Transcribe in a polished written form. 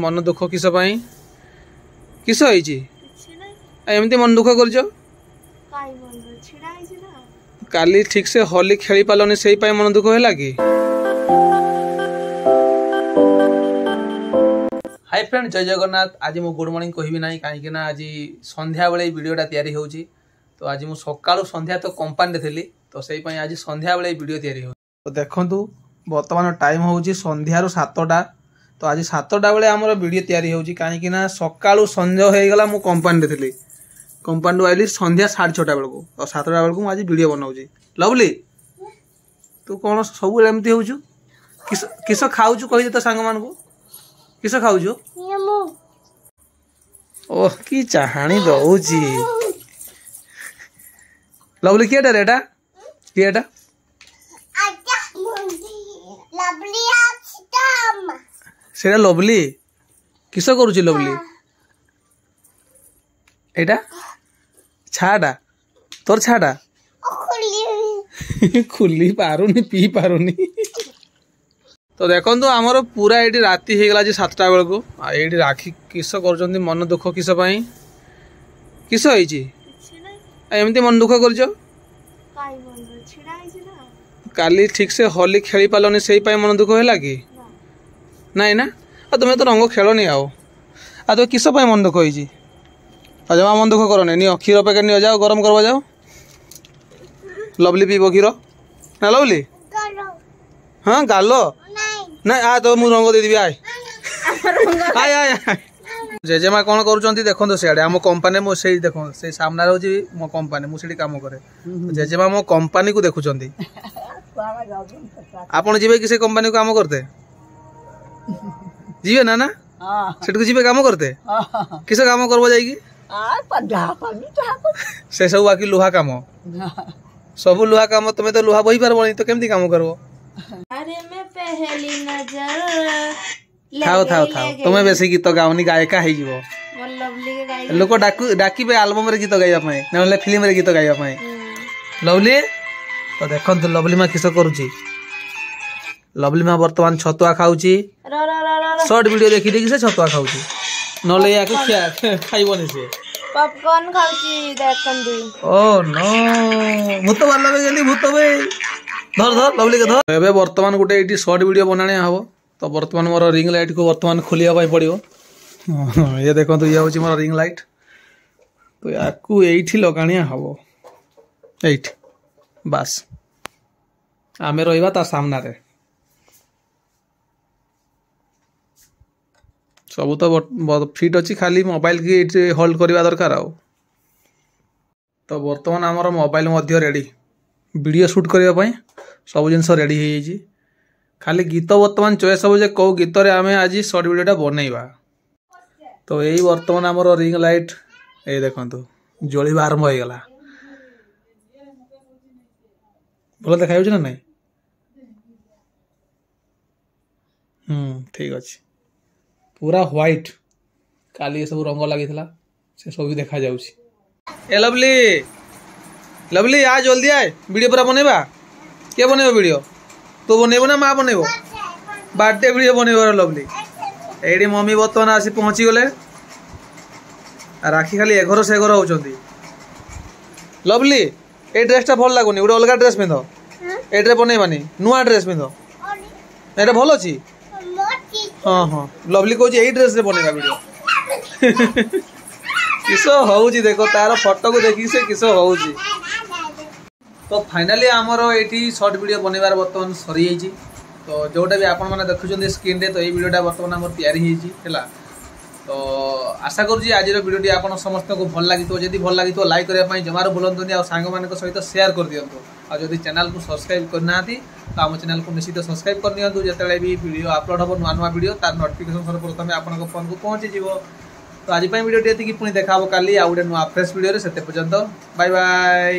ମନ ଦୁଃଖ କିସ ପାଇଁ? କିସ ହେଇଛି ଏମିତି ମନ ଦୁଃଖ କରୁଛ? କାଲି ଠିକ ସେ ହୋଲି ଖେଳି ପାରିଲନି, ସେଇ ପାଇଁ ମନ ଦୁଃଖ ହେଲା କି? ହାଇ ଫ୍ରେଣ୍ଡ, ଜୟ ଜଗନ୍ନାଥ। ଆଜି ମୁଁ ଗୁଡ୍ ମର୍ଣ୍ଣିଂ କହିବି ନାହିଁ, କାହିଁକି ନା ଆଜି ସନ୍ଧ୍ୟାବେଳେ ଏଇ ଭିଡ଼ିଓଟା ତିଆରି ହେଉଛି। ତ ଆଜି ମୁଁ ସକାଳୁ ସନ୍ଧ୍ୟା ତ କମ୍ପାନୀରେ ଥିଲି, ତ ସେଇ ପାଇଁ ଆଜି ସନ୍ଧ୍ୟାବେଳେ ଏଇ ଭିଡ଼ିଓ ତିଆରି ହେଉଛି। ତ ଦେଖନ୍ତୁ, ବର୍ତ୍ତମାନ ଟାଇମ୍ ହେଉଛି ସନ୍ଧ୍ୟାରୁ 7ଟା। ତ ଆଜି 7ଟା ବେଳେ ଆମର ଭିଡ଼ିଓ ତିଆରି ହେଉଛି, କାହିଁକି ନା ସକାଳୁ ସଞ୍ଜ ହେଇଗଲା, ମୁଁ କମ୍ପାନୀରେ ଥିଲି। କମ୍ପାନୀରୁ ଆଇଲି ସନ୍ଧ୍ୟା 6:30 ବେଳକୁ। ତ 7ଟା ବେଳକୁ ମୁଁ ଆଜି ଭିଡ଼ିଓ ବନାଉଛି। ଲଭଲି, ତୁ କ'ଣ ସବୁବେଳେ ଏମିତି ହେଉଛୁ? କିସ କିସ ଖାଉଛୁ କହିଦେ ତ ସାଙ୍ଗମାନଙ୍କୁ, କିସ ଖାଉଛୁ? ଓହ, କି ଚାହାଣି ଦଉଛି ଲଭଲି। କିଏଟା ରେ ଏଟା? କିଏ ଏଟା? ସେଇଟା ଲଭଲି। କିସ କରୁଛି ଲଭଲି? ଏଇଟା ଛାଟା, ତୋର ଛାଟା ଖୋଲି ପାରୁନି, ପିଇ ପାରୁନି। ତ ଦେଖନ୍ତୁ, ଆମର ପୁରା ଏଇଠି ରାତି ହେଇଗଲା ଆଜି 7ଟା ବେଳକୁ। ଆଉ ଏଇଠି ରାକ୍ଷୀ କିସ କରୁଛନ୍ତି? ମନ ଦୁଃଖ କିସ ପାଇଁ? କିସ ହେଇଛି ଏମିତି ମନ ଦୁଃଖ କରୁଛ? କାଲି ଠିକ ସେ ହୋଲି ଖେଳି ପାରିଲନି, ସେଇ ପାଇଁ ମନ ଦୁଃଖ ହେଲା କି? ନାଇଁ ନା? ଆଉ ତୁମେ ତ ରଙ୍ଗ ଖେଳନି। ଆଉ ଆଉ ତମେ କିସ ପାଇଁ ମନ ଦୁଃଖ ହେଇଛି? ଆଉ ଜମା ମନ ଦୁଃଖ କରନି। ନିଅ କ୍ଷୀର ପ୍ୟାକେଟ୍, ନିଅ, ଯାଅ ଗରମ କରବ ଯାଅ। ଲଭଲି ପିଇବ କ୍ଷୀର ନା ଲଭଲି? ହଁ, ଗାଲ ନାଇଁ। ଆ ତ ମୁଁ ରଙ୍ଗ ଦେଇଦେବି, ଆୟ ଆୟ ଆୟ। ଜେଜେମା କ'ଣ କରୁଛନ୍ତି ଦେଖନ୍ତୁ ସିଆଡ଼େ। ଆମ କମ୍ପାନୀ, ମୁଁ ସେଇ ଦେଖନ୍ତୁ, ସେଇ ସାମ୍ନାରେ ହେଉଛି ମୋ କମ୍ପାନୀ, ମୁଁ ସେଠି କାମ କରେ। ଜେଜେମା ମୋ କମ୍ପାନୀକୁ ଦେଖୁଛନ୍ତି। ଆପଣ ଯିବେ କି ସେ କମ୍ପାନୀକୁ କାମ କରତେ? ଯିବେ ନା? ନା, ସେଠିକୁ ଯିବେ କାମ କରତେ? କିସ କାମ କରବ ଯାଇକି ସେ ସବୁ? ବାକି ଲୁହା କାମ, ସବୁ ଲୁହା କାମ। ତମେ ତ ଲୁହା ବୋହି ପାରିବନି, ତ କେମିତି କାମ କରିବ? ଥାଉ ଥାଉ ଥାଉ, ତମେ ବେଶୀ ଗୀତ ଗାଉନି, ଗାୟିକା ହେଇଯିବ। ଲୋକ ଡାକୁ ଡାକିବେ ଆଲବମରେ ଗୀତ ଗାଇବା ପାଇଁ, ନହେଲେ ଫିଲ୍ମରେ ଗୀତ ଗାଇବା ପାଇଁ। ଲଭଲି, ତ ଦେଖନ୍ତୁ ଲଭଲି ମା କିସ କରୁଛି। ଲଭଲି ମା ବର୍ତ୍ତମାନ ଛତୁଆ ଖାଉଛି। ସର୍ଟ ଭିଡିଓ ଦେଖି ଦେଖି ସେ ଛତୁଆ ଖାଉଛି, ନହେଲେ ୟାକୁ ଖାଇବନି ସେ। ପପକର୍ନ ଖାଉଛି ଦେଖନ୍ତୁ। ଓ ନୋ, ଭୂତ ବାହାରିଲା ଗଲି, ଭୂତ ବେ। ଧର ଧର ଲଭଲି, ଧର। ଏବେ ବର୍ତ୍ତମାନ ଗୋଟେ ଏଇଠି ସର୍ଟ ଭିଡିଓ ବନାଣିଆ ହବ। ତ ବର୍ତ୍ତମାନ ମୋର ରିଙ୍ଗ ଲାଇଟ୍କୁ ବର୍ତ୍ତମାନ ଖୋଲିବା ପାଇଁ ପଡ଼ିବ। ଇଏ ଦେଖନ୍ତୁ, ଇଏ ହେଉଛି ମୋର ରିଙ୍ଗ ଲାଇଟ୍। ତ ୟାକୁ ଏଇଠି ଲଗାଣିଆ ହବ, ଏଇଠି ବାସ୍। ଆମେ ରହିବା ତା ସାମ୍ନାରେ। ସବୁ ତ ଫିଟ୍ ଅଛି, ଖାଲି ମୋବାଇଲକି ଏଇଠି ହୋଲ୍ଡ କରିବା ଦରକାର ଆଉ। ତ ବର୍ତ୍ତମାନ ଆମର ମୋବାଇଲ ମଧ୍ୟ ରେଡ଼ି, ଭିଡ଼ିଓ ସୁଟ୍ କରିବା ପାଇଁ ସବୁ ଜିନିଷ ରେଡ଼ି ହେଇଯାଇଛି। ଖାଲି ଗୀତ ବର୍ତ୍ତମାନ ଚଏସ୍ ହେବ ଯେ କେଉଁ ଗୀତରେ ଆମେ ଆଜି ସର୍ଟ ଭିଡ଼ିଓଟା ବନେଇବା। ତ ଏଇ ବର୍ତ୍ତମାନ ଆମର ରିଙ୍ଗ ଲାଇଟ୍, ଏଇ ଦେଖନ୍ତୁ, ଜଳିବା ଆରମ୍ଭ ହେଇଗଲା। ଭଲ ଦେଖାଯାଉଛି ନା ନାଇଁ? ହୁଁ, ଠିକ ଅଛି। ପୁରା ହ୍ୱାଇଟ୍। କାଲି ଏସବୁ ରଙ୍ଗ ଲାଗିଥିଲା, ସେ ସବୁ ବି ଦେଖାଯାଉଛି। ଏ ଲଭଲି, ଲଭଲି, ଆ ଜଲ୍ଦି ଆୟ, ଭିଡ଼ିଓ ପୁରା ବନେଇବା। କିଏ ବନେଇବ ଭିଡ଼ିଓ? ତୁ ବନେଇବୁ ନା ମା ବନେଇବ? ବାର୍ଥଡେ ଭିଡ଼ିଓ ବନେଇବ ଲଭଲି। ଏଇଠି ମମି ବର୍ତ୍ତମାନ ଆସି ପହଞ୍ଚିଗଲେ। ରାକ୍ଷୀ ଖାଲି ଏଘର ସେ ଘର ହଉଛନ୍ତି। ଲଭଲି, ଏଇ ଡ୍ରେସଟା ଭଲ ଲାଗୁନି, ଗୋଟେ ଅଲଗା ଡ୍ରେସ୍ ପିନ୍ଧ। ଏଇଟାରେ ବନେଇବାନି, ନୂଆ ଡ୍ରେସ୍ ପିନ୍ଧ। ଏଇଟା ଭଲ ଅଛି। ହଁ ହଁ, ଲଭଲି କହୁଛି ଏଇ ଡ୍ରେସରେ ବନେଇବା ଭିଡ଼ିଓ। କିସ ହଉଛି ଦେଖ, ତାର ଫଟୋକୁ ଦେଖିକି ସେ କିସ ହଉଛି। ତ ଫାଇନାଲି ଆମର ଏଇଠି ସର୍ଟ ଭିଡ଼ିଓ ବନେଇବାର ବର୍ତ୍ତମାନ ସରିଯାଇଛି। ତ ଯେଉଁଟା ବି ଆପଣମାନେ ଦେଖୁଛନ୍ତି ସ୍କ୍ରିନ୍ରେ, ତ ଏଇ ଭିଡ଼ିଓଟା ବର୍ତ୍ତମାନ ଆମର ତିଆରି ହେଇଛି ହେଲା। ତ ଆଶା କରୁଛି ଆଜିର ଭିଡ଼ିଓଟି ଆପଣ ସମସ୍ତଙ୍କୁ ଭଲ ଲାଗିଥିବ। ଯଦି ଭଲ ଲାଗିଥିବ, ଲାଇକ୍ କରିବା ପାଇଁ ଜମାରୁ ଭୁଲନ୍ତୁନି, ଆଉ ସାଙ୍ଗମାନଙ୍କ ସହିତ ସେୟାର କରିଦିଅନ୍ତୁ। ଆଉ ଯଦି ଚ୍ୟାନେଲକୁ ସବସ୍କ୍ରାଇବ୍ କରିନାହାନ୍ତି, ତ ଆମ ଚ୍ୟାନେଲକୁ ନିଶ୍ଚିତ ସବସ୍କ୍ରାଇବ୍ କରିନିଅନ୍ତୁ। ଯେତେବେଳେ ବି ଭିଡ଼ିଓ ଅପଲୋଡ଼ ହେବ, ନୂଆ ନୂଆ ଭିଡ଼ିଓ, ତାର ନୋଟିଫିକେସନ୍ ସର୍ବପ୍ରଥମେ ଆପଣଙ୍କ ଫୋନ୍କୁ ପହଞ୍ଚିଯିବ। ତ ଆଜି ପାଇଁ ଭିଡ଼ିଓଟି ଏତିକି। ପୁଣି ଦେଖା ହେବ କାଲି ଆଉ ଗୋଟେ ନୂଆ ଫ୍ରେଶ୍ ଭିଡ଼ିଓରେ। ସେତେ ପର୍ଯ୍ୟନ୍ତ ବାଇ ବାଇ।